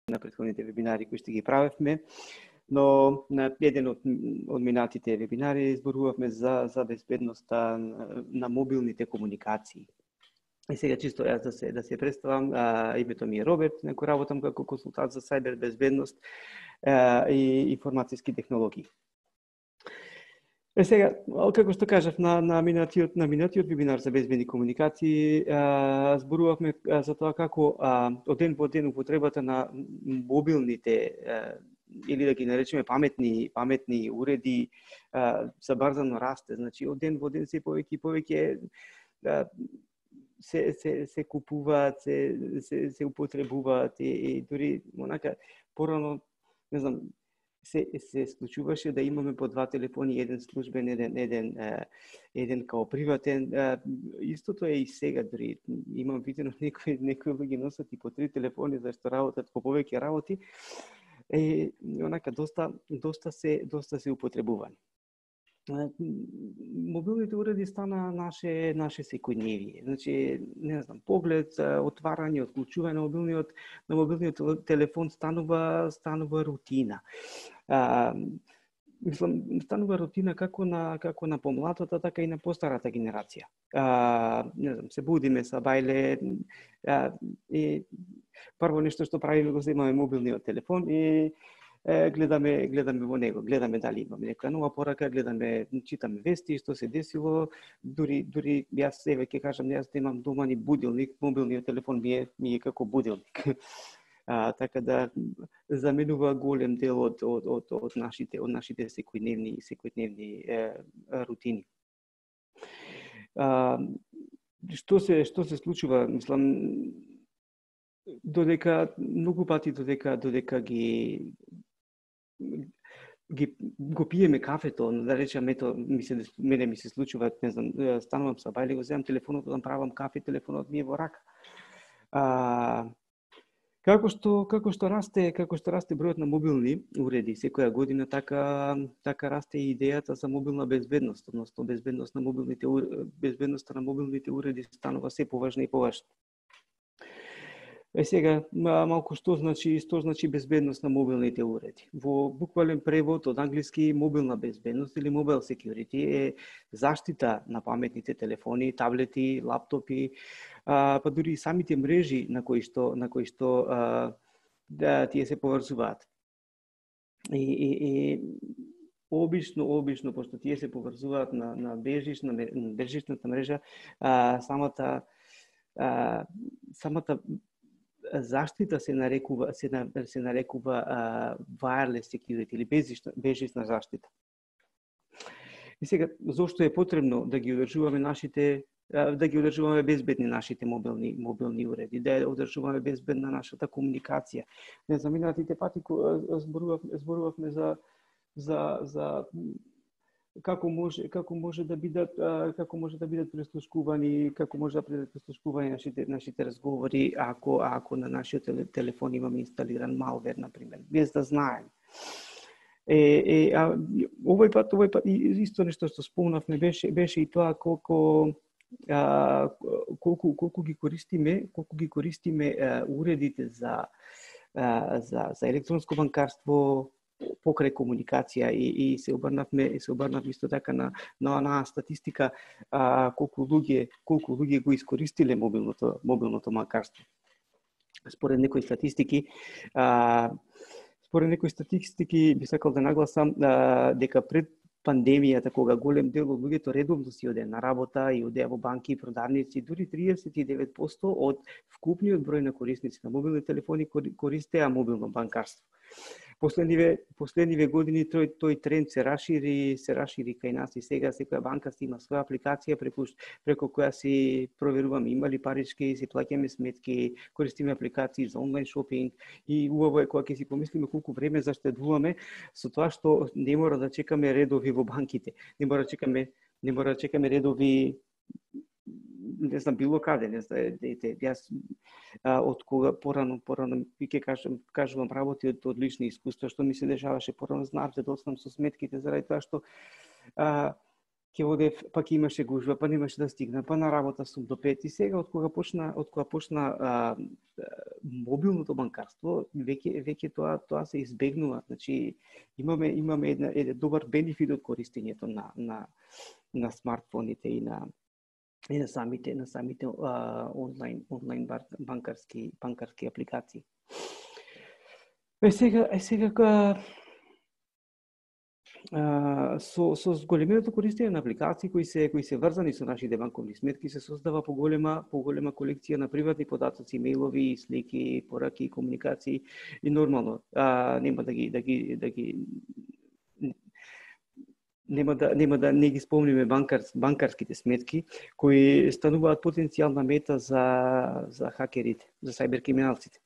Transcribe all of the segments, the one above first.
на претходните вебинари кои што ги правевме, но на еден од минатите вебинари зборувавме за безбедноста на мобилните комуникации. И сега чисто јас да се представам, името ми е Роберт, некој работам како консултант за сајбер безбедност и информацијски технологии. Сега, како што кажав на минатиот вебинар за безбедни комуникации, зборувавме за тоа како од ден во ден употребата на мобилните или да ги наречеме паметни уреди забрзано расте. Значи од ден во ден се повеќе и повеќе се купуваат, се употребуваат и дури онака порано, не знам, се случуваше да имаме по два телефони, еден службен, еден као приватен. Истото е и сега, дори имам видено некои луѓе носат и по 3 телефони зашто работат по повеќе работи. Онака доста се употребувани. Мобилните уреди стана наше секојдневие. Значи, не знам, поглед, отварање, отклучување на мобилниот телефон станува рутина. Мислам, станува рутина како на помладата, така и на постарата генерација. Не знам, се будиме са бајле и прво нешто што правиме го земаме мобилниот телефон и гледаме во него, гледаме дали имаме некоја нова порака, читаме вести, што се десило, дури јас еве ќе кажам, јас имам дома ни будилник, мобилниот телефон ми е како будилник. Така да заменува голем дел од нашите секојдневни рутини. Што се случува, мислам, додека многу пати додека го пиеме кафето, да речеме, мене ми се случува, не знам, станувам са бајле, го земам телефонот, да правам кафе, телефонот ми е во рака. Како што расте бројот на мобилни уреди секоја година, така расте и идејата за мобилна безбедност, односно безбедноста на мобилните уреди станува се поважна и поважна. Сега малку што значи безбедност на мобилните уреди. Во буквален превод од англиски мобилна безбедност или mobile security е заштита на паметните телефони, таблети, лаптопи, па дури и самите мрежи на кои што тие се поврзуваат. И обично пошто тие се поврзуваат на бежичната мрежа, самата заштита се нарекува wireless security или бежична заштита. И сега, зошто е потребно да ги одржуваме безбедни нашите мобилни уреди, да одржуваме безбедна нашата комуникација? Не знам, минатите пати зборувавме за како може да бидат преслушкувани, како може да бидат преслушкувани нашите разговори ако на нашиот телефон имаме инсталиран малвер, например, без да знаеме. Овој пат исто нешто што спомнавме беше и тоа колку ги користиме уредите за електронско банкарство покрај комуникација и се обрнавме исто така на онаа статистика колку луѓе го искористиле мобилното банкарство. Според некои статистики би сакал да нагласам дека пред пандемијата, кога голем дел од луѓето редовно си оде на работа и одеа во банки и продавници, дури 39% од вкупниот број на корисници на мобилни телефони користеа мобилно банкарство. Последниве години тој тренд се расшири кај нас и сега секоја банка си има своја апликација преку која си проверуваме има ли парички, си плаќаме сметки, користиме апликации за онлайн шопинг и убаво е кога ќе си помислиме колку време заштедуваме со тоа што не мора да чекаме редови во банките, не мора да чекаме редови не знам било каде, не знам, јас од кога порано ќе кажувам работи од лични искуства што ми се дешаваше порано, знаев да доцнам со сметките заради тоа што ќе одев, па ќе имаше гужва, па немаше да стигна, па на работа сум до 5 и сега од кога почна мобилното банкарство, веќе тоа се избегнува. Значи имаме еден добар бенефит од користењето на смартфоните и на самите онлайн банкарски апликации. Сега со зголеменото користење на апликации кои се врзани со нашите банковни сметки се создава поголема колекција на приватни податоци, мејлови, слики, пораки, комуникации и нормално нема да не ги спомниме банкарските сметки кои стануваат потенцијална мета за хакерите, за сајберкриминалците.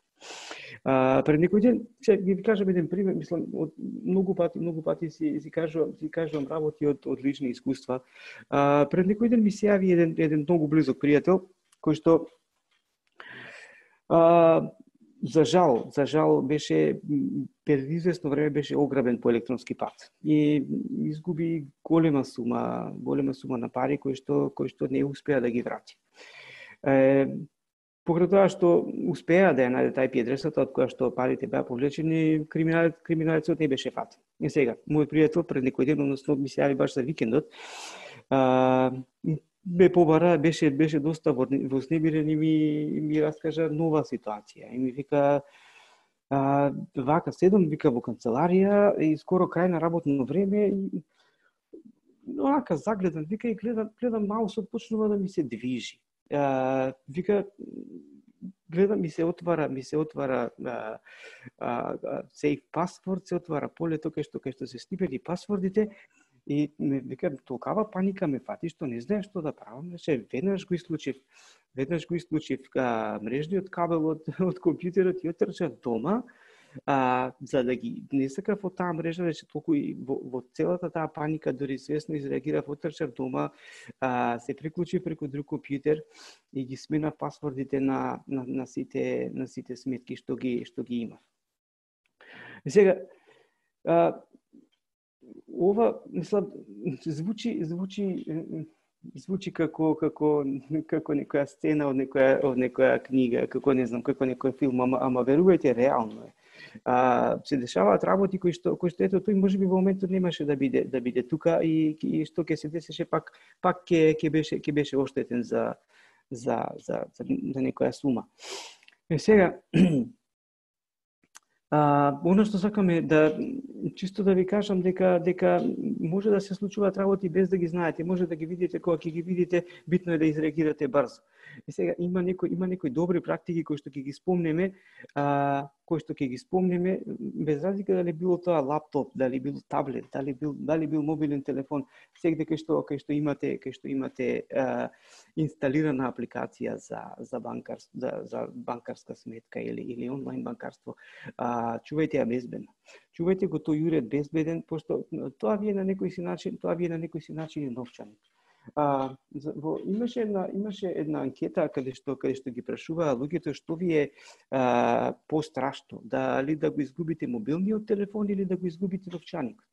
Пред некој ден, ќе ви кажам еден пример, мислам, од многу пати си кажувам работи од лични искуства. Пред некој ден ми се јави еден многу близок пријател, кој што за жал беше пред известно време беше ограбен по електронски пат и изгуби голема сума на пари кои што не успеа да ги врати. Покрај тоа што успеа да ја најде IP адресата од која што парите беа повлечени, криминалецот не беше фатен. И сега, мојот пријател пред некој ден, односно ми се јави баш за викендот, ме побара, беше доста вознемирен и ми раскажа нова ситуација. И ми вика, вака седам, вика во канцеларија и скоро крај на работно време и онака загледан, вика и гледам маусот почнува да ми се движи. Вика, гледам ми се отвара сейф пасворд, се отвара полето кај што се снипени пасвордите и вика толкава паника ме фати што не знаеш што да правам. Веднаш го исклучив мрежниот кабел од компјутерот и отрчав дома. За да ги не сакав од таа мрежа, рече толку и во целата таа паника, дори свесно изреагирав, отрчав дома, се приклучив преку друг компјутер и ги сменав пасвордите на сите сметки што ги имав. И сега ова мислам звучи како некоја сцена од некоја книга, како не знам, како некој филм, ама верувајте, реално е. Се дешаваат работи кои што ето тој можеби во моментот немаше да биде тука и што ќе се десеше пак ќе беше оштетен за некоја сума. И сега оно што сакаме чисто да ви кажам дека може да се случуваат работи без да ги знаете, може да ги видите, кога ќе ги видите, битно е да изреагирате брзо. И сега има некои добри практики кои што ќе ги спомнеме, без разлика дали било тоа лаптоп, дали бил таблет, дали бил мобилен телефон, сегде кај што имате инсталирана апликација за банкарска сметка или онлайн банкарство, чувајте ја безбедно. Чувајте го тој уред безбеден, пошто тоа ви е на некој си начин новчаник. Имаше една анкета каде што ги прашуваа луѓето што ви е пострашно, дали да го изгубите мобилниот телефон или да го изгубите новчаникот.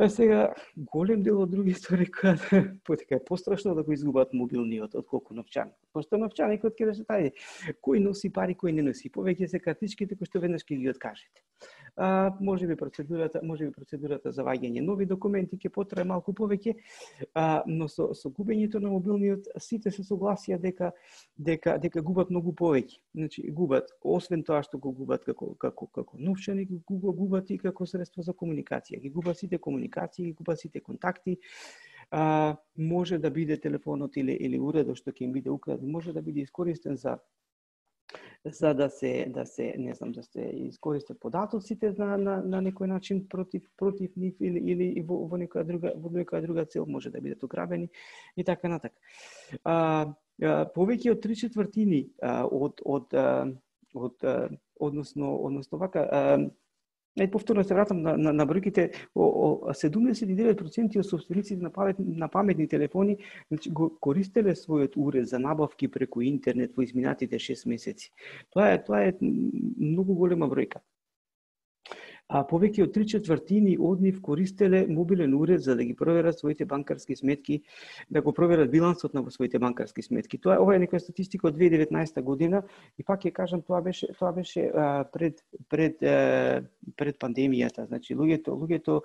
Сега голем дел од другите рекоа дека е пострашно да го изгубат мобилниот отколку новчаникот. Пошто новчаникот ќе рече тај кој носи пари, кој не носи, повеќе се картичките кои што веднаш ќе ги откажете. Можеби процедурата за ваѓање нови документи ќе потрае малку повеќе, но со губењето на мобилниот сите се согласија дека губат многу повеќе. Значи губат, освен тоа што го губат како новчаник, го губат и како средство за комуникација. Ги губат сите комуникации, ги губат сите контакти. Може да биде телефонот или уредот што ќе им биде украден, може да биде искористен за да се искористат податоците на некој начин против нив или во некоја друга цел, може да бидат ограбени и така натака. Повеќе од 3/4 односно вака повторно се вратам на бројките, 79% од собствениците на паметни телефони го користеле својот уред за набавки преку интернет во изминатите 6 месеци. Тоа е многу голема бројка. а повеќе од 3/4 од нив користеле мобилен уред за да ги проверат своите банкарски сметки, да го проверат билансот на своите банкарски сметки. Ова е некоја статистика од 2019 година и пак ќе кажам тоа беше пред пандемијата. Значи луѓето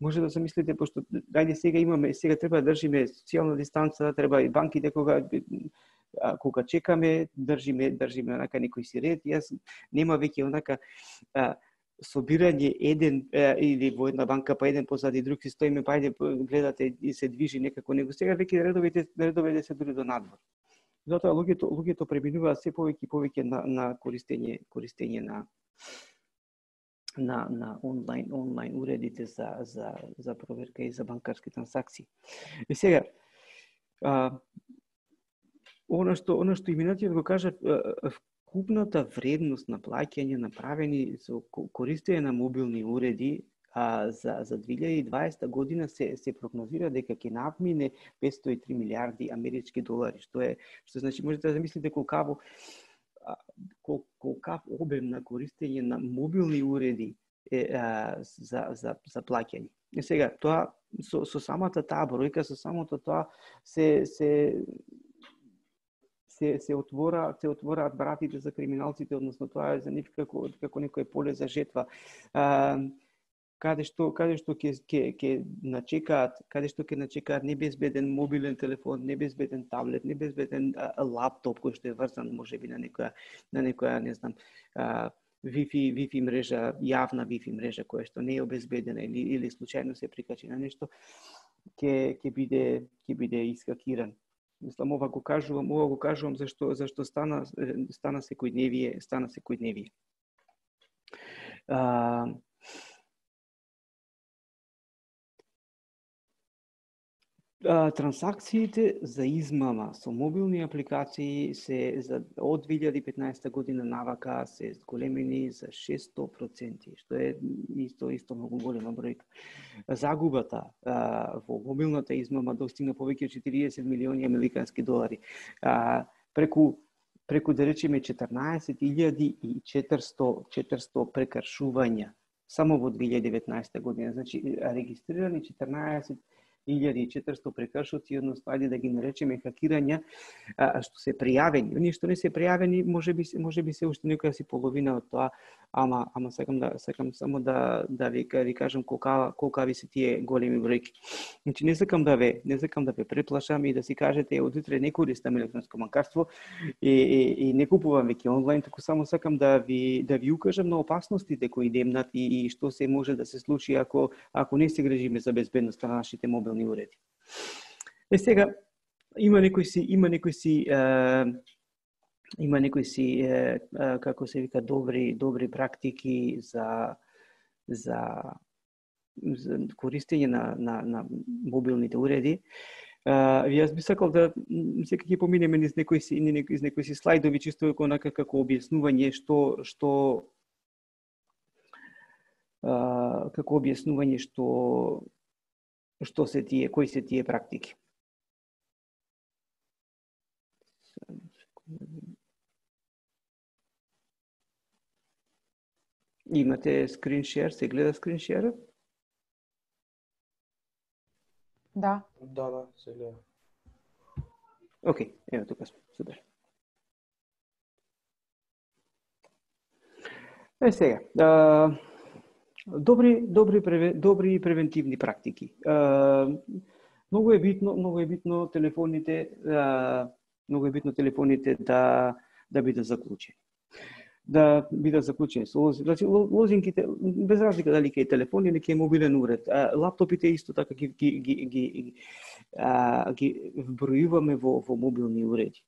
може да се мислите, пошто дајде сега треба да држиме социјална дистанца, треба и банките кога чекаме, држиме онака некој си ред. Јас нема веќе онака собирање еден или во една банка па еден позади друг си стоиме, па ајде гледате и се движи некако него. Сега веќе редовите се дури до надвор. Затоа луѓето преминуваат се повеќе и повеќе на користење на онлайн уредите за проверка и за банкарски трансакции. И сега Она што и минатиот го кажа, вкупната вредност на плаќање направени со користење на мобилни уреди за 2020 година се прогнозира дека ќе надмине 503 милиарди амерички долари, што значи можете да замислите колкав обем на користење на мобилни уреди за плаќање. И сега тоа со самата таа бројка, со самото тоа се отвораат вратите за криминалците, односно тоа е за нив како некој поле за жетва. Каде што ќе начекаат небезбеден мобилен телефон, небезбеден таблет, небезбеден лаптоп кој што е врзан можеби на некоја не знам Wi-Fi мрежа, јавна Wi-Fi мрежа која што не е обезбедена или случајно се прикачи на нешто, ќе биде искакиран. Мислам, ова го кажувам зашто стана секојдневие. Трансакциите за измама со мобилни апликации се од 2015 година навака се зголемени за 600%, што е исто многу голема бројка. Загубата во мобилната измама достигна повеќе од 40 милиони американски долари. Преку да речеме 14.400 прекршувања само во 2019 година. Значи регистрирани 14.400 прекршоци, односно ајде да ги наречеме хакирања, што се пријавени. Оние што не се пријавени, можеби се уште некоја си половина од тоа, ама сакам само да ви кажам колкави се тие големи бројки. Значи не сакам да ве преплашам и да си кажете од утре не користам електронско банкарство и не купувам веќе онлайн, туку само сакам да ви укажам на опасностите кои демнат и што се може да се случи ако не се грижиме за безбедноста на нашите мобилни уреди. Сега има некои си како се вика добри практики за користење на мобилните уреди. Јас би сакал да сега ќе поминеме низ некои си слайдови чисто како објаснување што се тие, кои се тие практики. Имате скрин шер, се гледа скрин шерот? Да. Да, се гледа. Океј, ево тука сме, супер. Сега, добри превентивни практики. Многу е битно телефоните да бидат заклучени. Да бидат заклучени со лозинки. Значи лозинките без разлика дали ќе е телефон или ќе е мобилен уред. Лаптопите исто така ги вбројуваме во мобилни уреди.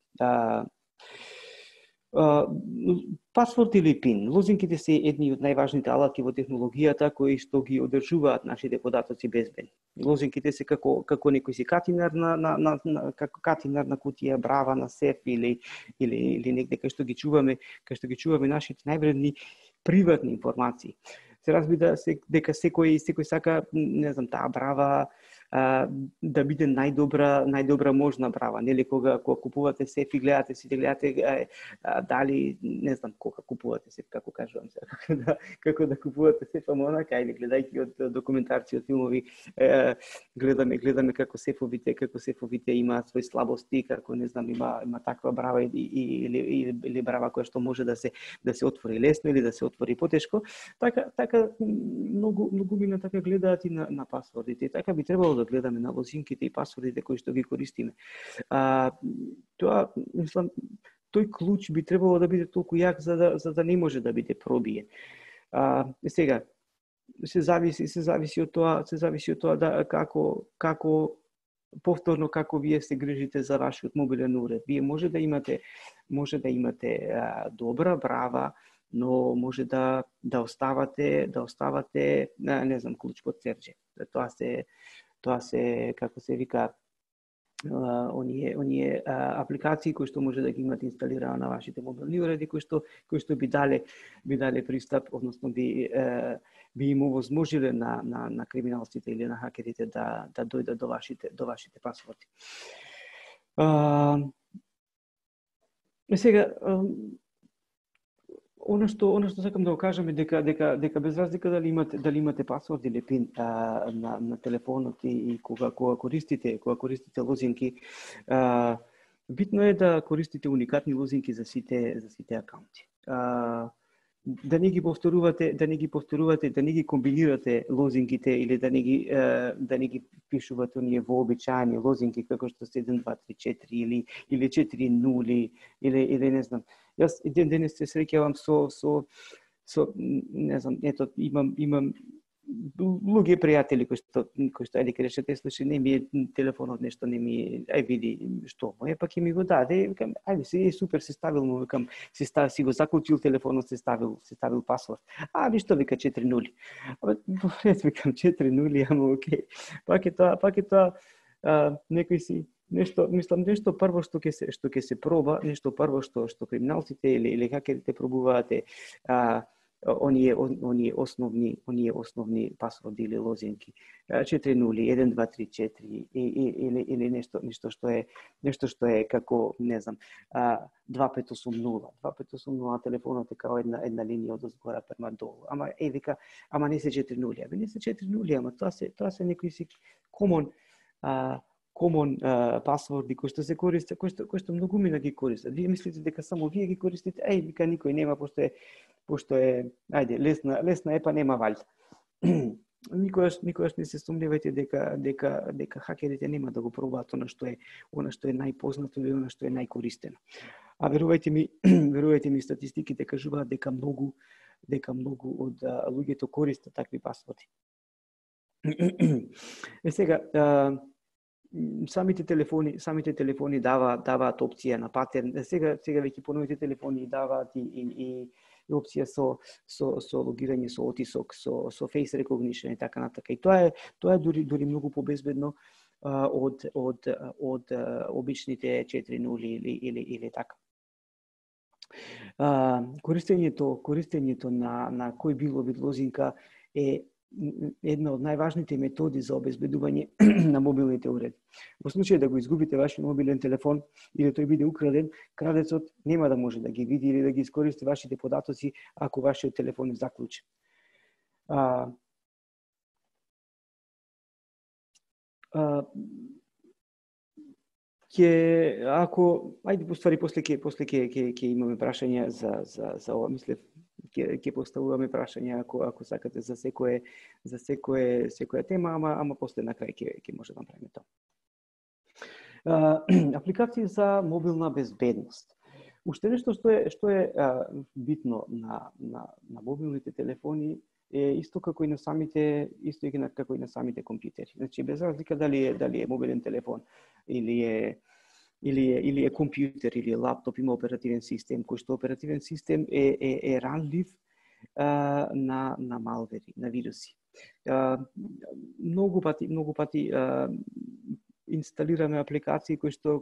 Пасворд или пин. Лозинките се едни од најважните алатки во технологијата кои што ги одржуваат нашите податоци безбедни. Лозинките се како некој си катинар како катинар на кутија, брава на сеф или негде кај што ги чуваме нашите највредни приватни информации. Се разбира дека секој сака, не знам, таа брава да биде најдобра можна брава, нели кога купувате сеф и гледате дали не знам кога купувате сеф, како кажувам сега, како да купувате сеф, ама онака или гледајќи од документарци, од филмови, гледаме како сефовите имаат свои слабости, како не знам има таква брава или брава која што може да се отвори лесно или да се отвори потешко. Така многу мина така гледаат и на пасвордите. Така би требало да гледаме на лозинките и пасвордите кои што ги користиме. Тоа, мислам, тој клуч би требало да биде толку јак за да не може да биде пробиен. Сега се зависи од тоа да како повторно како вие се грижите за вашиот мобилен уред. Вие може да имате добра брава, но може да оставате не знам клуч под серџе. Тоа се како се вика оние апликации кои што може да ги имате инсталирано на вашите мобилни уреди, кои што би дале пристап, односно би им овозможиле на криминалците или на хакерите да дојдат до вашите пасворди. Сега Она што сакам да го кажам е дека без разлика дали имате пасворд или пин на телефонот и кога користите лозинки, битно е да користите уникатни лозинки за сите акаунти. Да не ги повторувате, да не ги комбинирате лозинките или да не ги пишувате оние вообичаени лозинки како што се 1 2 3 4 или 4 0 или не знам. Јас еден ден се среќавам со не знам, ето имам луѓе пријатели кои што ајде кажете слушај не ми е телефонот нешто не ми види што му е пак и ми го даде викам ајде си супер се ставил му викам си го заклучил телефонот се ставил пасворд ништо вика 4 0 пред викам 4 0 ама окей пак е тоа некој си нешто прво што ќе се проба, нешто прво што криминалците или хакерите пробуваат оние основни пасворди или лозинки 4 0 1 2 3 4 или нешто што е како не знам 2580 2580 телефонот е како една линија од озгора према долу ама не се 4 0 не се 4 0 ама тоа се некои си комон пасворди кои што се користат, кои што многу мина ги користат. Вие мислите дека само вие ги користите, вика никој нема пошто е ајде лесна е па нема валјда. Никогаш не се сумневајте дека хакерите нема да го пробаат она што е најпознато или она што е најкористено. А верувајте ми статистиките кажуваат дека многу од луѓето користат такви пасворди. Сега самите телефони даваат опција на патерн. Сега веќе поновите телефони даваат и опција со логирање со отисок, со face recognition и така натака. И тоа е дури многу побезбедно од обичните 4.0 или така. Користењето на кој било вид лозинка е една од најважните методи за обезбедување на мобилните уреди. Во случај да го изгубите вашиот мобилен телефон или тој биде украден, крадецот нема да може да ги види или да ги искористи вашите податоци ако вашиот телефон е заклучен. После ќе имаме прашања за ова, мислев ќе поставуваме прашања ако сакате за секоја тема, ама после на крај ќе може да направиме тоа. Апликации за мобилна безбедност. Уште нешто што е битно на мобилните телефони е исто како и на самите компјутери. Значи без разлика дали е мобилен телефон или е компјутер или лаптоп, има оперативен систем, кој што оперативен систем е ранлив на малвери, на вируси. Многу пати инсталираме апликации кои што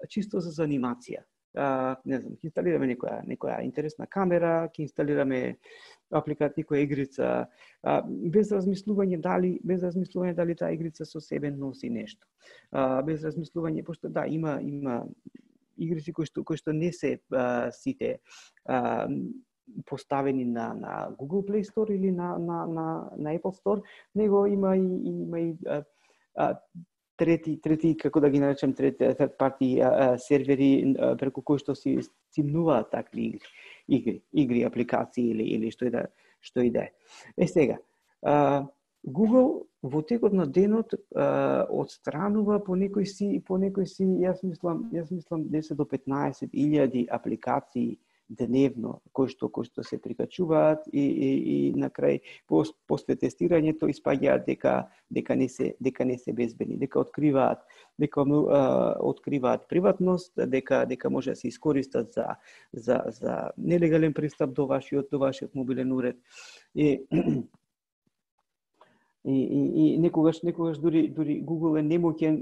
чисто за занимација. не знам, ќе инсталираме некоја интересна камера, ќе инсталираме апликација, некоја игрица, без размислување дали таа игрица со себе носи нешто. Без размислување, пошто да, има игрици кои што не се сите поставени на Google Play Store или на Apple Store, него има и трети, како да ги наречем, third party сервери преку кои што си стимнуваат такви игри, апликации или што и да е. Сега, Google во текот на денот отстранува по некои си, јас мислам 10 до 15,000 апликации дневно кои што се прикачуваат и на крај после тестирањето испаѓаат дека не се безбедни, дека откриваат приватност, дека може да се искористат за нелегален пристап до вашиот мобилен уред. И некогаш дури Google е немоќен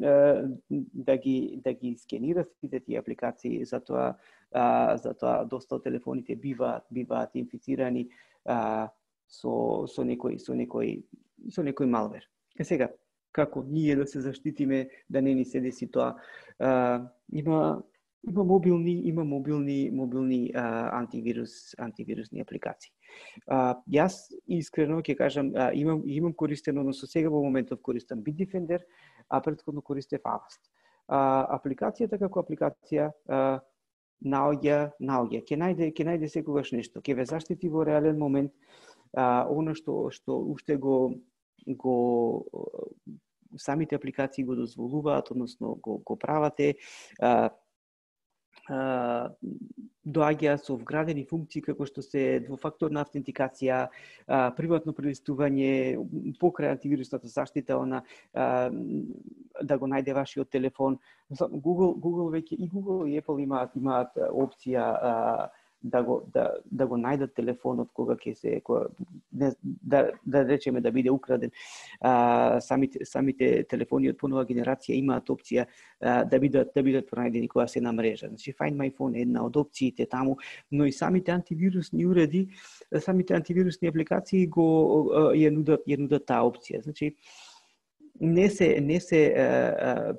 да ги скенира сите тие апликации, затоа доста од телефоните биваат инфицирани со некој малвер. Сега, како ние да се заштитиме да не ни се деси тоа? Има мобилни антивирусни апликации. Јас искрено ќе кажам, имам користен, односно сега во моментов користам Bitdefender, а претходно користев Avast. Апликацијата како апликација наоѓа, ќе најде секогаш нешто, ќе ве заштити во реален момент. Она што уште го самите апликации го дозволуваат, односно го правате, доаѓаат со вградени функции како што се двофакторна автентикација, приватно прелистување, покрај антивирусната заштита, да го најде вашиот телефон. Google веќе и Google и Apple имаат опција да го најдат телефонот кога ќе се да речеме да биде украден. Самите телефони од понова генерација имаат опција да бидат пронајдени кога се на мрежа. Значи Find My Phone е една од опциите таму, но и самите антивирусни уреди, самите антивирусни апликации ја нудат таа опција. Значи не се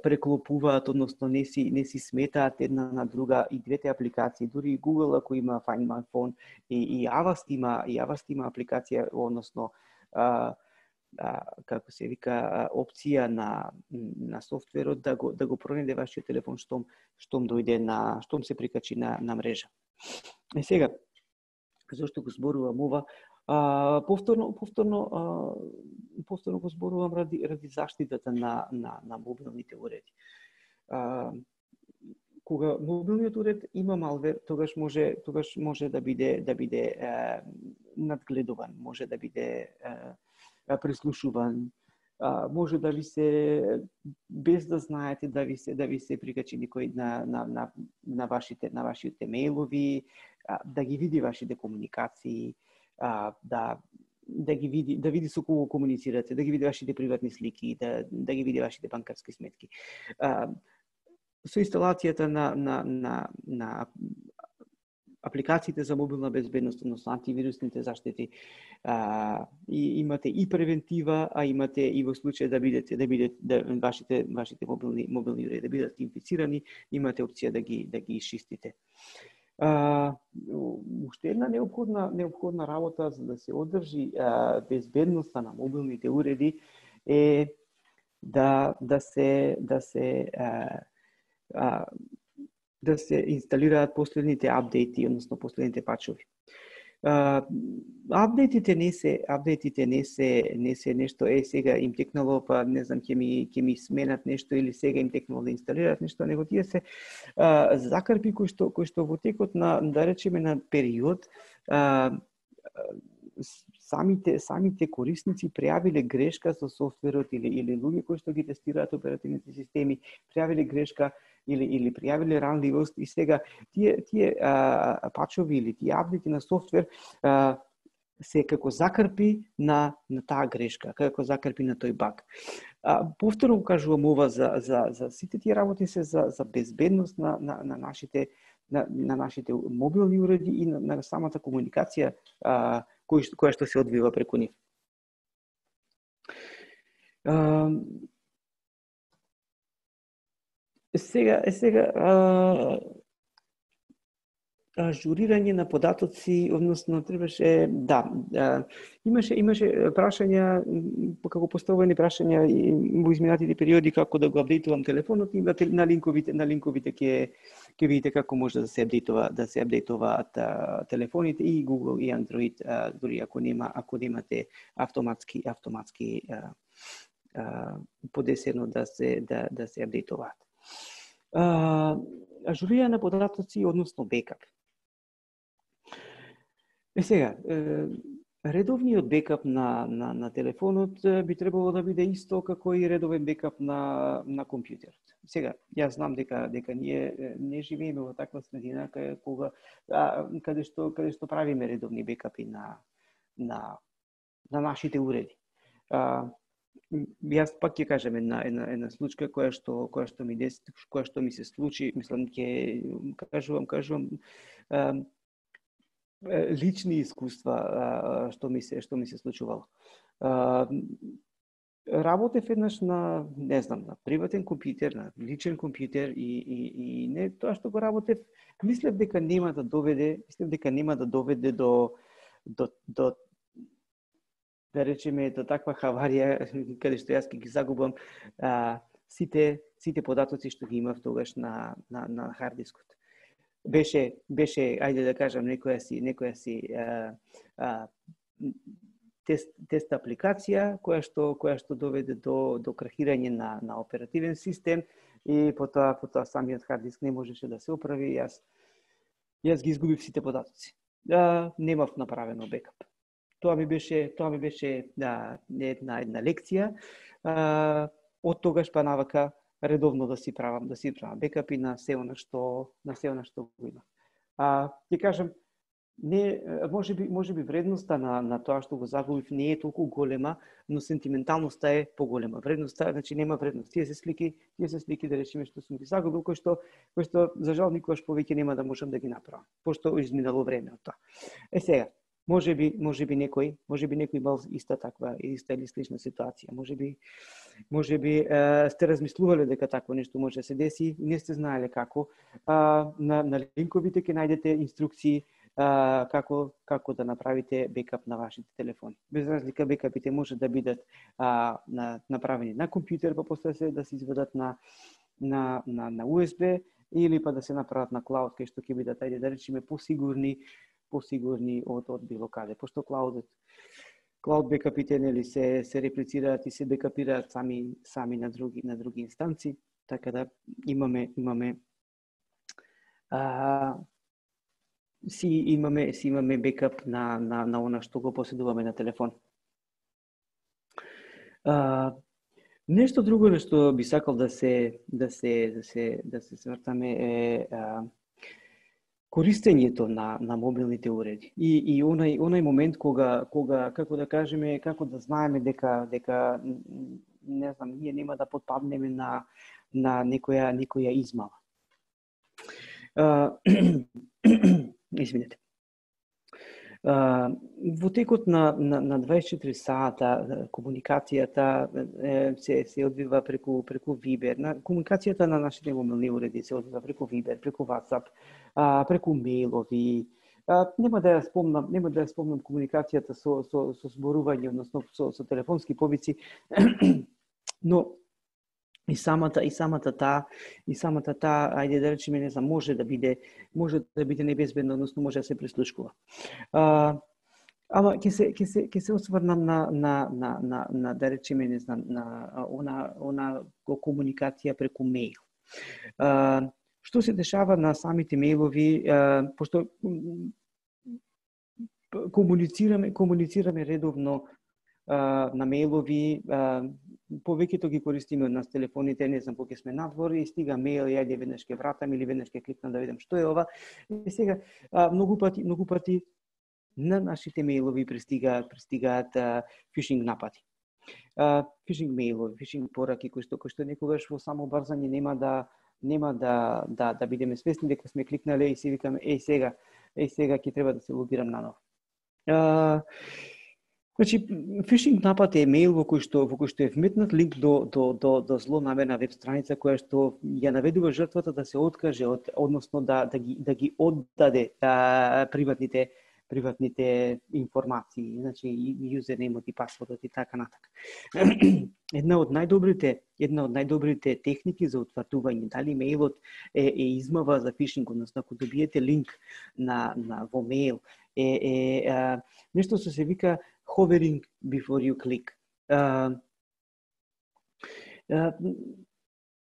преклопуваат, односно не си сметаат една на друга и двете апликации. Дури Google ако има Find My Phone и Avast има апликација, односно како се вика, опција на софтверот да го пронајде вашиот телефон штом се прикачи на мрежа. И сега, зошто го зборувам ова? Повторно го зборувам ради заштитата на мобилните уреди. Кога мобилниот уред има малвер, тогаш може да биде надгледуван, може да биде прислушуван, може да ви се, без да знаете, да ви се прикачи некој на вашите мејлови, да ги види вашите комуникации, да види со кого комуницирате, да ги види вашите приватни слики, да ги види вашите банкарски сметки. Со инсталацијата на апликациите за мобилна безбедност, односно антивирусните заштити, и имате и превентива, а имате и во случај да вашите мобилни уреди да бидат инфицирани, имате опција да ги изчистите. Уште една неопходна работа за да се одржи безбедноста на мобилните уреди е да се инсталираат последните апдејти, односно последните пачови. Апдејтите не се нешто сега им текнало, па не знам ќе ми сменат нешто или сега им текнало да инсталираат нешто, него тие се закрпи кои што во текот на, да речеме, на период самите корисници пријавиле грешка со софтверот или луѓе кои што ги тестираат оперативните системи пријавиле грешка или пријавиле ранливост, и сега тие пачови или тие апдејти на софтвер се како закрпи на таа грешка, како закрпи на тој баг. Повторно кажувам ова за сите тие работи се за безбедност на на нашите мобилни уреди и на самата комуникација која што се одвива преку нив. Сега ажурирање на податоци, односно требаше, имаше прашања, како поставени прашања во изминатите периоди како да го апдейтувам телефонот и на линковите ќе видите како може да се апдейтуваат телефоните и Google и Android, дури ако немате автоматски подесено да се апдейтуваат. Ажурирање на податоци, односно бекап. Сега, редовниот бекап на телефонот би требало да биде исто како и редовен бекап на компјутерот. Сега, јас знам дека ние не живееме во таква средина каде што правиме редовни бекапи на нашите уреди. Јас пак ќе кажам една случка која што ми се случи, мислам ќе кажувам лични искуства што ми се случувало. Работев еднаш на приватен компјутер, на личен компјутер и не тоа што го работев, мислев дека нема да доведе до да речеме до таква хаварија каде што јас ќе ги загубам сите податоци што ги имав тогаш на хард дискот. Беше ајде да кажам некоја си тест апликација која што доведе до крахирање на оперативен систем и потоа самиот хард диск не можеше да се оправи. Јас ги изгубив сите податоци. Немав направено бекап. Тоа ми беше една лекција. Од тогаш па навака редовно да си правам бекапи на се она што го имам. Ќе кажам, можеби вредноста на тоа што го загубив не е толку голема, но сентименталноста е поголема. Вредноста, значи нема вредност. Тие се слики да речеме што сум ги загубил, кои што за жал никогаш повеќе нема да можам да ги направам, пошто изминало време од тоа. Сега, можеби некој имал иста или слична ситуација. Можеби сте размислувале дека такво нешто може да се деси и не сте знаеле како. На линковите ќе најдете инструкции како да направите бекап на вашите телефони. Без разлика, бекапите може да бидат направени на компјутер, па после да се изведат на USB или па да се направат на клауд, кај што ќе бидат, ајде да речеме, посигурни од било каде. Пошто клауд бекапите нели се реплицираат и се бекапираат сами на други инстанци, така да имаме бекап на она што го поседуваме на телефон. Нешто друго на што би сакал да се свртаме е користењето на мобилните уреди и онај момент кога како да кажеме, како да знаеме дека не знам, ние нема да потпаднеме на некоја измама. Извинете. Во текот на 24 сата комуникацијата се одвива преку Viber. Комуникацијата на нашите мобилни уреди се одвива преку Viber, преку WhatsApp, преку мејлови. Нема да ја спомнам комуникацијата со зборување, односно со телефонски повици, но и самата таа, ајде да речеме, не знам, може да биде небезбедно, односно може да се прислушкува. Ама ќе се осврнам на да речеме, не знам, на она комуникација преку мејл. Што се дешава на самите мејлови, пошто комуницираме редовно на мејлови, повеќето ги користиме од нас телефоните, не знам, кога сме надвор и стига мејл, јајде веднаш ќе вратам или веднаш ќе кликнам да видам што е ова. И сега многу пати на нашите мејлови пристигаат фишинг напади. Фишинг мејлови, фишинг пораки кои што некогаш во само брзање нема нема да бидеме свесни дека сме кликнале и си викаме сега ќе треба да се логирам наново. Значи, фишинг напад е мејл во кој што е вметнат линк до злонамерна веб страница која што ја наведува жртвата да се откаже односно да ги оддаде приватните информации, значи юзернеймот и пасвордот и така натака. Една од најдобрите техники за утврдување дали мејлот е измава за фишинг, односно ако добиете линк во мејл нешто што се вика hovering before you click.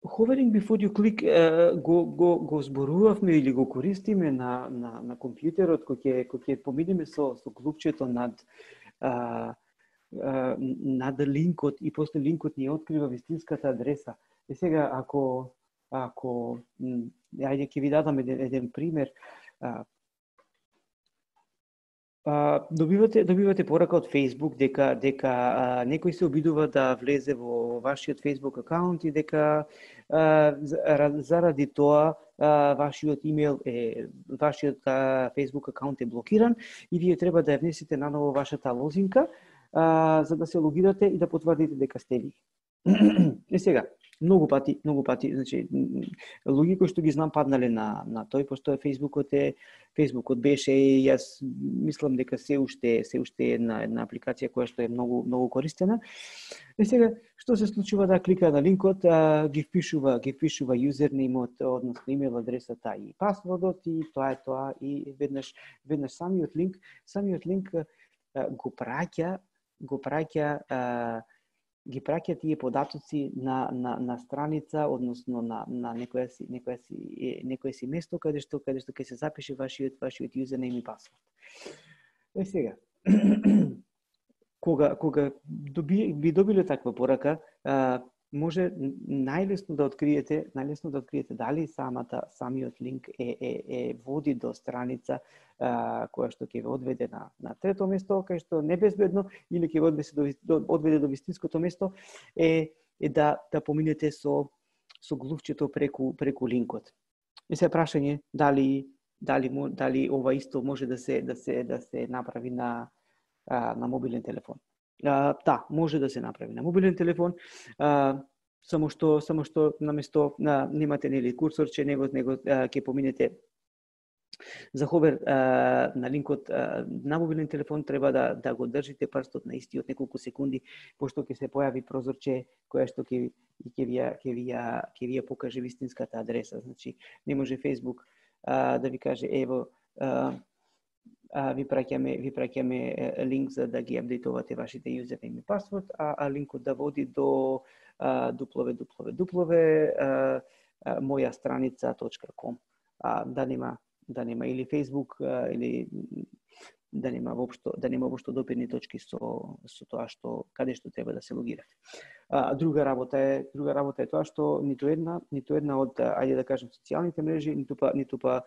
Hovering before you click го зборувавме или го користиме на компјутерот кој ќе поминеме со клупчето над линкот и после линкот ни открива вистинската адреса. И сега ако ајде ќе ви дадам еден пример. Добивате порака од Facebook дека некој се обидува да влезе во вашиот Facebook акаунт и дека заради тоа вашиот имејл вашиот Facebook акаунт е блокиран и вие треба да ја внесете наново вашата лозинка за да се логирате и да потврдите дека сте ви. И сега, многу пати, значи луѓе кои што ги знам паднале на тој, пошто Фејсбукот беше и јас мислам дека се уште е една апликација која што е многу користена. И сега што се случува да клика на линкот, ги впишува юзернеймот, односно имејл адресата и пасвордот и тоа е тоа и веднаш самиот линк ги праќа тие податоци на страница, односно на некое си место каде што ќе се запише вашиот юзернейм и пасворд. Е сега, кога би добиле таква порака, може најлесно да откриете дали самиот линк води до страница која што ќе ве одведе на трето место, кај што небезбедно или ќе ве одведе до вистинското место е да поминете со глувчето преку линкот. И се прашање дали ова исто може да се направи на мобилен телефон. Да, може да се направи на мобилен телефон, само што наместо немате нели курсорче, него ќе поминете за ховер на линкот на мобилен телефон, треба да го држите прстот на истиот неколку секунди, пошто ќе се појави прозорче која што ќе ви ја покаже вистинската адреса. Значи, не може Facebook да ви каже ево ви праќаме линк за да ги апдейтувате вашите юзернейм и пасворд, а линкот да води до mojastranica.com. Да нема или Facebook или да нема воопшто допирни точки со тоа каде што треба да се логирате. Друга работа е тоа што ниту една од ајде да кажем социјалните мрежи, ниту па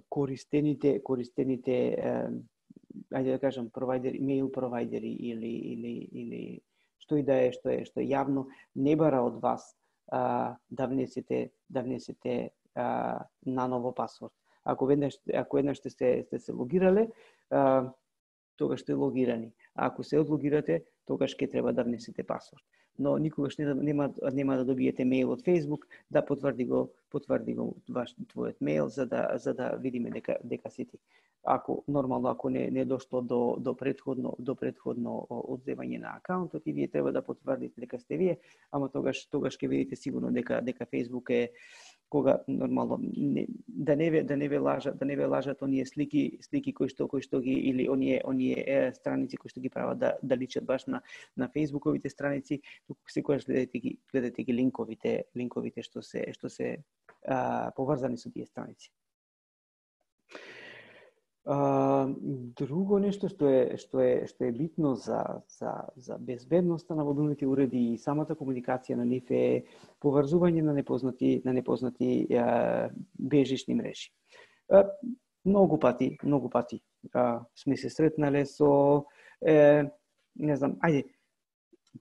користените ајде да кажам провајдери, мејл провајдери или што и да е што е јавно, не бара од вас да внесете наново пасворд. Ако еднаш сте се логирале, тогаш сте логирани. А ако се одлогирате, тогаш ќе треба да внесете пасворд. Но никогаш нема да добиете мејл од Facebook да потврди го твојот мејл за да видиме дека си ти. Ако не дошло до претходно одземање на акаунтот и вие треба да потврдите дека сте вие, ама тогаш ќе видите сигурно дека Facebook е кога нормално да не ве лажат оние слики кои што ги или оние страници кои што ги прават да личат баш на Facebook-овите страници, туку секогаш гледате ги линковите што се поврзани со тие страници. Друго нешто што е битно за безбедноста на мобилните уреди и самата комуникација на нив е поврзување на непознати бежични мрежи. Многу пати сме се сретнале со не знам, ајде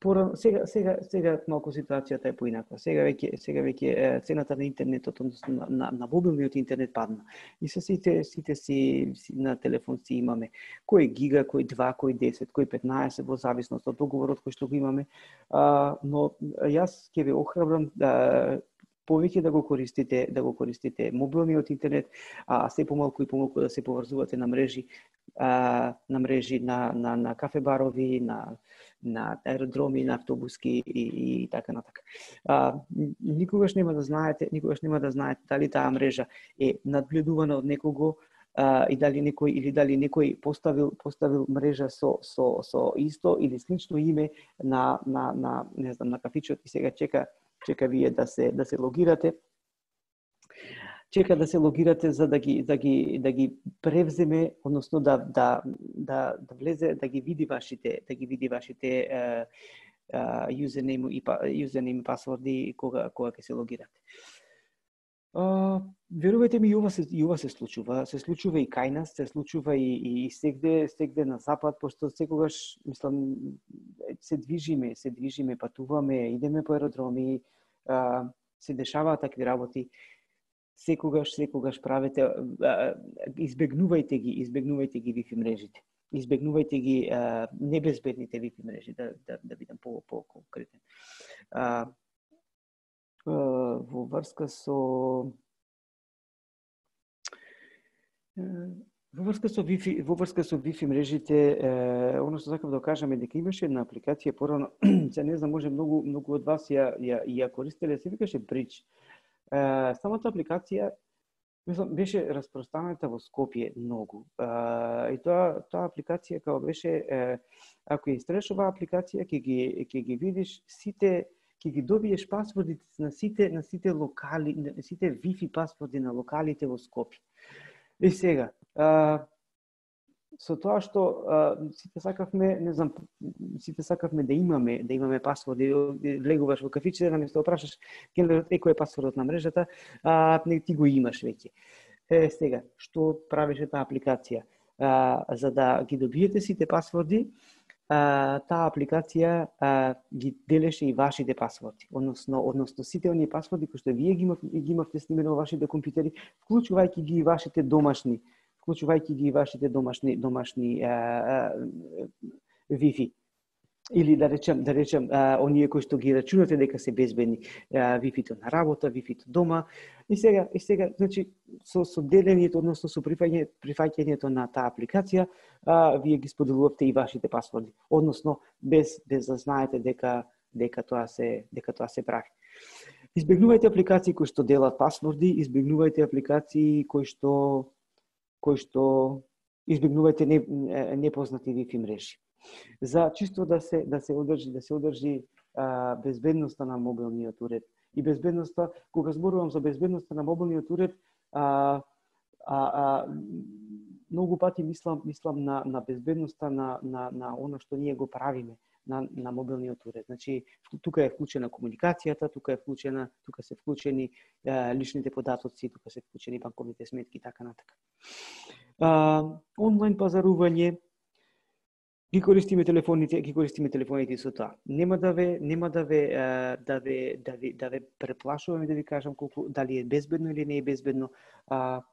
Сега малку ситуацијата е поинаква. Сега веќе цената на интернетот, односно на мобилниот интернет падна. И се сите си на телефон си имаме кој гига, кој 2, кој 10, кој 15 во зависност од договорот кој што го имаме. Но јас ќе ве охрабрам повеќе да го користите мобилниот интернет, а се помалку и помалку да се поврзувате на мрежи, на кафе-барови, на аеродроми, на автобуски и така натака. Никогаш нема да знаете дали таа мрежа е надгледувана од некого и дали некој поставил мрежа со исто или слично име на не знам, на кафичот и сега чека вие да се логирате. Чека да се логирате за да ги превземе, односно да влезе, да ги види вашите юзернейм и пасворди кога ќе се логирате. Верувајте ми, и ова се случува. Се случува и кај нас, се случува и сегде на запад, пошто секогаш, мислам, се движиме, патуваме, идеме по аеродроми, се дешаваат такви работи. Секогаш правете, избегнувајте ги Wi-Fi мрежите. Избегнувајте ги небезбедните Wi-Fi мрежи, да бидам по-конкретен. Во врска со Wi-Fi мрежите, оно што сакав да кажам е дека имаше една апликација порано, се не знам, може многу од вас ја користеле, се викаше Bridge. Самата апликација, мислам, беше распространата во Скопје многу. И тоа апликација као беше, ако ја истреш оваа апликација, ќе ги видиш сите, ќе ги добиеш пасвордите на сите локали, сите Wi-Fi пасворди на локалите во Скопје. И сега, со тоа што сите сакавме да имаме пасворди, влегуваш во кафиче, наместо да прашаш келнерот кој е пасвордот на мрежата, ти го имаш веќе. Сега, што правеше таа апликација? За да ги добиете сите пасворди, таа апликација ги делеше и вашите пасворди, односно сите оние пасворди кои што вие ги имавте снимени во вашите компјутери, вклучувајќи ги и вашите домашни Wi-Fi. Или да речем оние кои што ги рачунате дека се безбедни, Wi-Fi-то на работа, Wi-Fi-то дома. И сега, значи со делењето, односно со прифаќањето на таа апликација, вие ги споделувате и вашите пасворди, односно без да знаете дека тоа се прави. Избегнувајте апликации кои што делат пасворди, избегнувајте апликации кои што избегнувајте непознати Wi-Fi мрежи. За чисто да се одржи безбедноста на мобилниот уред и безбедноста, кога зборувам за безбедноста на мобилниот уред, многу пати мислам на безбедноста на она што ние го правиме на мобилниот уред. Значи, тука е вклучена комуникацијата, тука се вклучени личните податоци, тука се вклучени банковните сметки и така натака. Онлайн пазарување, ги користиме телефоните со тоа. Нема да ве преплашуваме да ви кажам дали е безбедно или не е безбедно.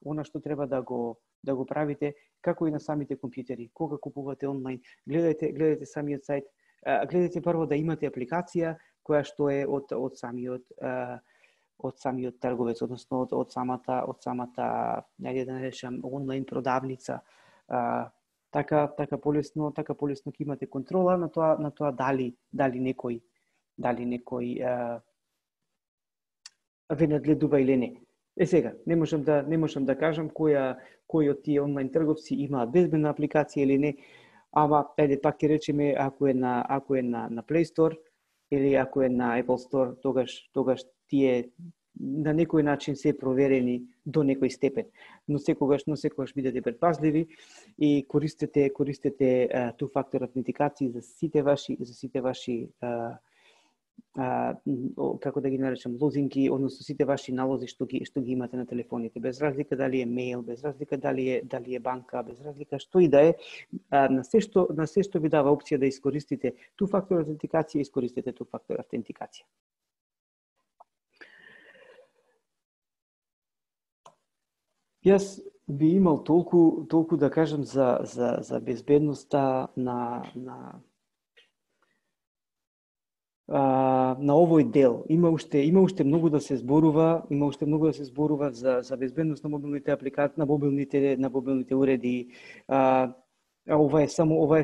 Она што треба да го правите, како и на самите компјутери. Кога купувате онлайн, гледајте самиот сајт, гледајте прво да имате апликација која што е од самиот трговец, односно од самата, најде да речем, онлайн продавница. Така полесно ќе имате контрола на тоа дали некој ве надледува или не. Сега, не можам да кажам кој од тие онлайн трговци имаат безбедна апликација или не, ама пак ќе речеме ако е на Play Store или ако е на Apple Store, тогаш тие на некој начин се проверени до некој степен. Но секогаш бидете предпазливи и користете two-factor автентикации за сите ваши како да ги наречам, лозинки, односно сите ваши налози што ги имате на телефоните, без разлика дали е мејл, без разлика дали е банка, без разлика што и да е, на се што ви дава опција да искористите ту фактор автентикација, искористите ту фактор автентикација. Јас би имал толку да кажам за безбедноста на овој дел. Има уште многу да се зборува, за безбедност на мобилните апликации, на мобилните уреди. Ова е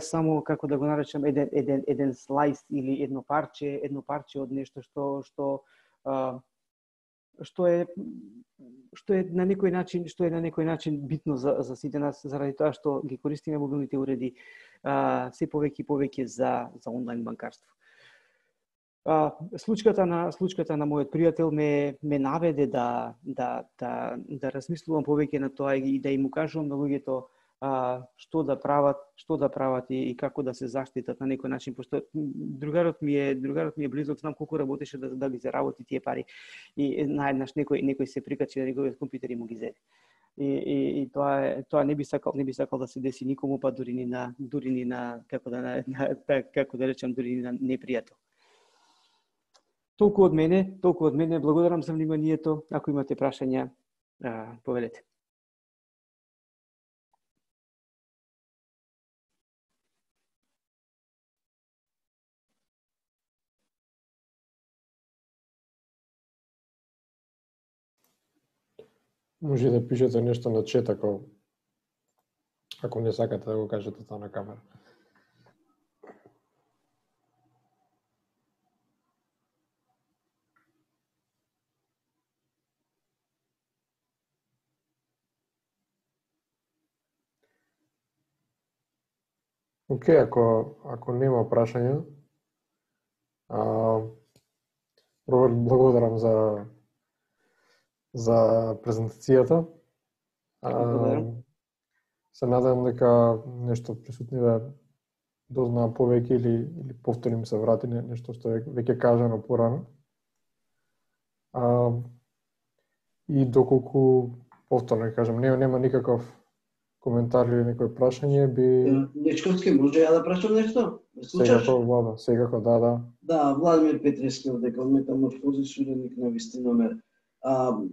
само како да го наречам еден слайс или едно парче од нешто што е на некој начин битно за сите нас, заради тоа што ги користиме мобилните уреди се повеќе и повеќе за онлайн банкарство. Случката на мојот пријател ме наведе да размислувам повеќе на тоа и да им укажувам на луѓето што да прават и како да се заштитат на некој начин, пошто другарот ми е близок, знам колку работеше да ги заработи тие пари и наеднаш некој се прикачи на неговиот компјутер и му ги зеде. И тоа не би сакал да се деси никому, па дури ни на како да речам, дури ни на непријател. Толку од мене, благодарам за вниманието. Ако имате прашања, повелете. Може да пишете нешто на чет ако не сакате да го кажете тоа на камера. Океј, ако нема прашања, Роберт, благодарам за презентацијата. Се надевам дека нешто присутниве дознаа повеќе или повторим се врати нешто што е веќе кажано порано. И доколку повторно кажам, нема никаков коментар или некој прашање би... Дечковски, може ја да прашам нешто? Секако, да. Да, Владимир Петрески од дека метаморфози суденик на Вистиномер.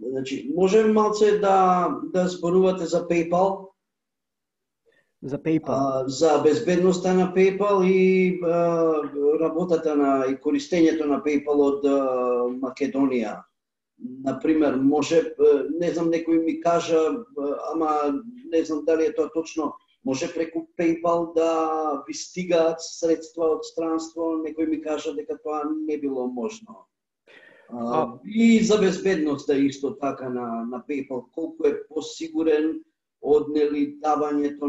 Значи, може малце да зборувате за PayPal? За PayPal? За безбедноста на PayPal и работата и користењето на PayPal од Македонија. Например, може, не знам, некој ми кажа, ама не знам дали е тоа точно, може преку PayPal да ви стигаат средства од странство, некој ми кажа дека тоа не било можно. И за безбедноста исто така на PayPal, колку е посигурен од давањето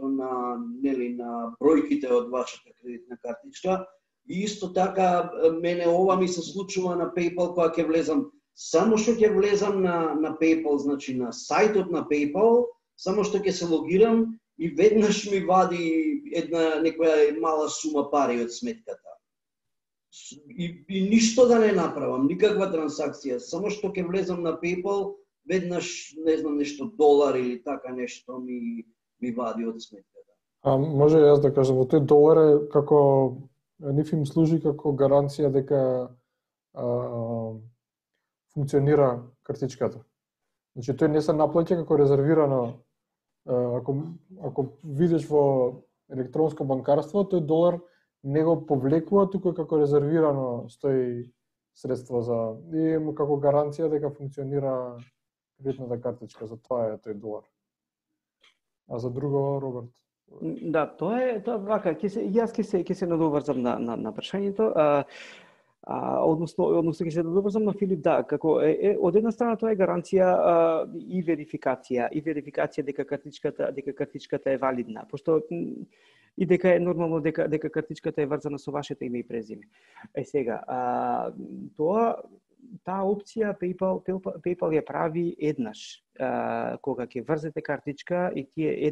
на бројките од вашата кредитна картичка. И исто така, мене ова ми се случува на PayPal кога ќе влезам. Само што ќе влезам на PayPal, значи на сајтот на PayPal, само што ќе се логирам и веднаш ми вади некоја мала сума пари од сметката. И ништо да не направам, никаква трансакција, само што ќе влезам на PayPal, веднаш, не знам, нешто долар или така нешто ми вади од сметката. Може јас да кажам, тој долар е како ниф им служи како гаранција дека функционира картичката. Значи тој не се наплаќа како резервирано. Ако видиш во електронско банкарство, тој долар не го повлекува, туку како резервирано стои средство и како гаранција дека функционира кредитната картичка, за тоа е тој долар. А за друго, Роберт? Да, тоа е вака, јас ќе се надоврзам на прашањето. Односно ќе се надоврзам на Филип, да, како од една страна тоа е гаранција и верификација дека картичката е валидна, пошто и дека е нормално дека картичката е врзана со вашето име и презиме. Сега, таа опција PayPal ја прави еднаш. кога ќе врзете картичка и тие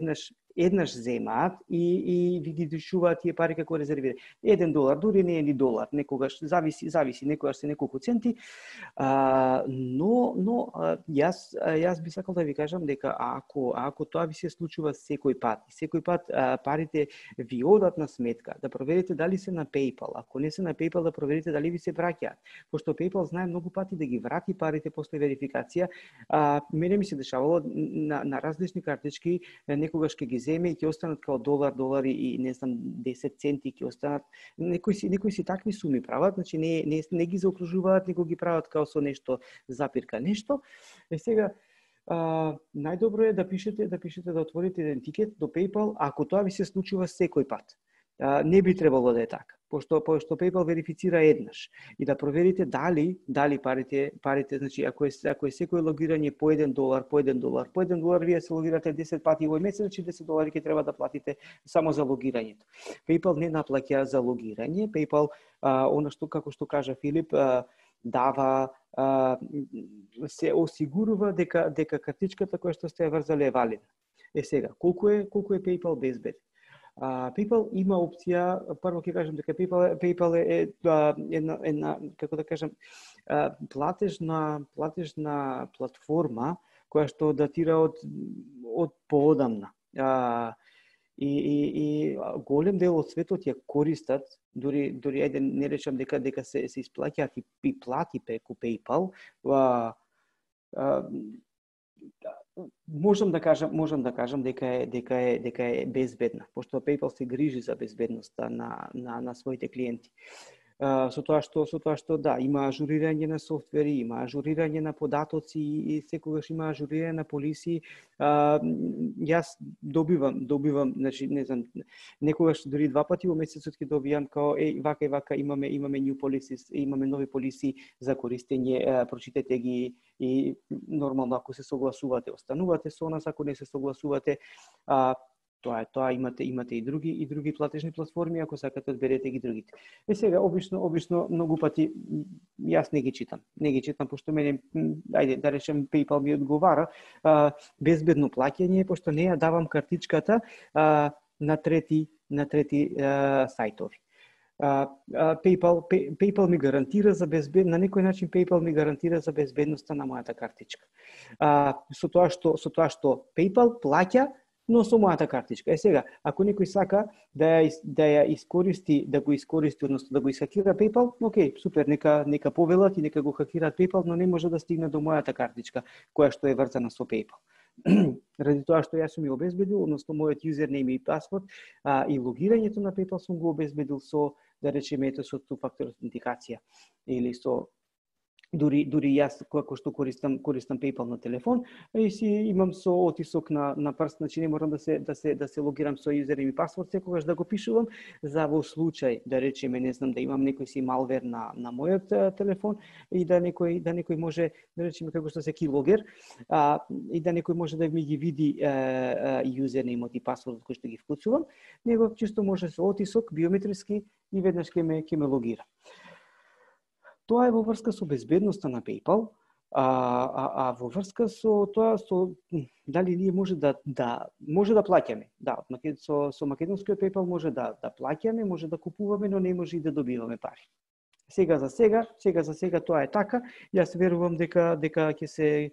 еднаш земаат и ви ги дишуваат тие пари како резервирани. $1, дури не е ни долар, некогаш зависи, некогаш се неколку центи. Но јас би сакал да ви кажам дека ако тоа ви се случува секој пат парите ви одат на сметка, да проверите дали се на PayPal. Ако не се на PayPal, да проверите дали ви се враќаат. Пошто PayPal знае многу пати да ги врати парите после верификација. Мене ми се дешавало на различни картички, некогаш ќе ги земе и ќе останат као $1 и не знам 10 центи ќе останат. Некои си такви суми прават, значи не ги заокружуваат, него ги прават као со нешто запирка нешто. Сега најдобро е да пишете да отворите идентитет до PayPal ако тоа ви се случува секој пат. Не би требало да е така, пошто PayPal верифицира еднаш и да проверите дали парите, значи ако е секој логирање по $1, вие се логирате 10 пати во месец, значи $10 ќе треба да платите само за логирањето. PayPal не наплаќа за логирање, PayPal она што како што кажа Филип, дава се осигурува дека картичката која што сте ја врзале е валидна. Сега, колку е PayPal безбеден? PayPal има опција, прво ќе кажам дека PayPal е една како да кажам платежна платформа која што датира од поодамна. И голем дел од светот ја користат, дури не речам дека се исплаќаат и плати преку PayPal. Можам да кажам дека е безбедна, пошто PayPal се грижи за безбедноста на своите клиенти. Со тоа што да, има ажурирање на софтвери, има ажурирање на податоци и секогаш има ажурирање на полиси. Јас добивам, значи не знам, некогаш дури 2 пати во месецот ќе добијам као вака и вака имаме new policies, имаме нови полиси за користење, прочитете ги и нормално ако се согласувате, останувате со нас, ако не се согласувате, тоа имате и други платежни платформи, ако сакате одберете ги другите. Сега обично многу пати јас не ги читам пошто мене ајде да речем PayPal ми одговара безбедно плаќање, пошто не ја давам картичката на трети сајтови. PayPal ми гарантира за на некој начин PayPal ми гарантира за безбедноста на мојата картичка. Со тоа што PayPal плаќа но со мојата картичка. Сега, ако некој сака да го искористи, односно да го исхакира PayPal, окей, супер, нека повелат и нека го хакираат PayPal, но не може да стигне до мојата картичка, која што е врзана со PayPal. Ради тоа што јас сум ја обезбедил, односно мојот юзернейм и пасворд, и логирањето на PayPal сум го обезбедил со, да речеме, со two-factor аутентикација или со дури јас како што користам PayPal на телефон и си имам со отисок на прст, значи не морам да се логирам со юзернейм и пасворд секогаш да го пишувам за во случај да речеме не знам да имам некој си малвер на мојот телефон и да некој може да речеме како што се keylogger и да некој може да ми ги види юзернеймот и пасвордот кој што ги вклучувам, него чисто може со отисок биометриски и веднаш ќе ме логира. Тоа е во врска со безбедноста на PayPal, во врска со тоа дали ние може да плаќаме. Да, со македонскиот PayPal може да плаќаме, може да купуваме, но не може и да добиваме пари. Сега за сега тоа е така. Јас верувам дека ќе се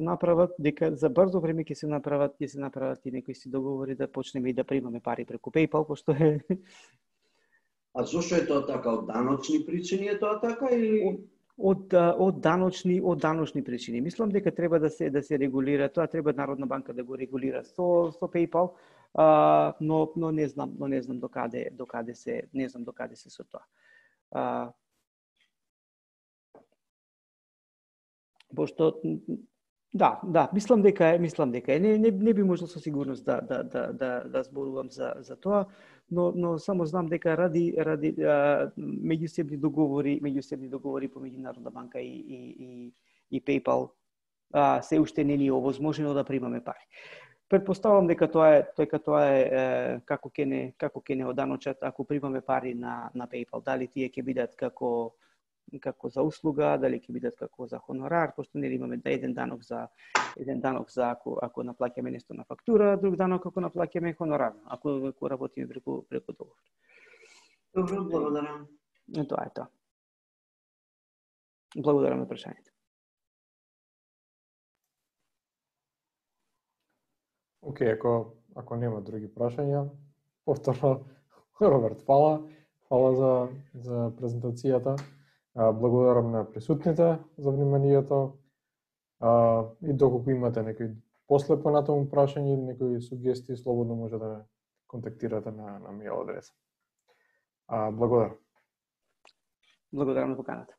направат, дека за брзо време ќе се направат и некои си договори да почнеме и да примаме пари преку PayPal, пошто е. А зошто е тоа така? Од даночни причини е тоа така или од даночни причини? Мислам дека треба да се регулира, тоа треба Народна банка да го регулира со PayPal, но не знам докаде се со тоа. Пошто да, мислам дека е. Не би можел со сигурност да зборувам за тоа, но само знам дека ради меѓусебни договори помеѓу Народна банка и PayPal се уште не ни е овозможено да примаме пари. Претпоставам дека тоа е како ќе не оданочат ако примаме пари на PayPal. Дали тие ќе бидат како како за услуга, дали ќе бидат како за хонорар, пошто нели имаме да еден данок за ако наплаќаме нешто на фактура, друг данок ако наплаќаме хонорар, ако работиме преку договор. Добро, благодарам. Тоа е тоа. Благодарам на прашањето. Океј, ако нема други прашања, повторно Роберт, фала за презентацијата. Благодарам на присутните за вниманието. И доколку имате некои после понатаму прашања или некои сугестии, слободно може да ме контактирате на мејл адреса. Благодарам. Благодарам на поканата.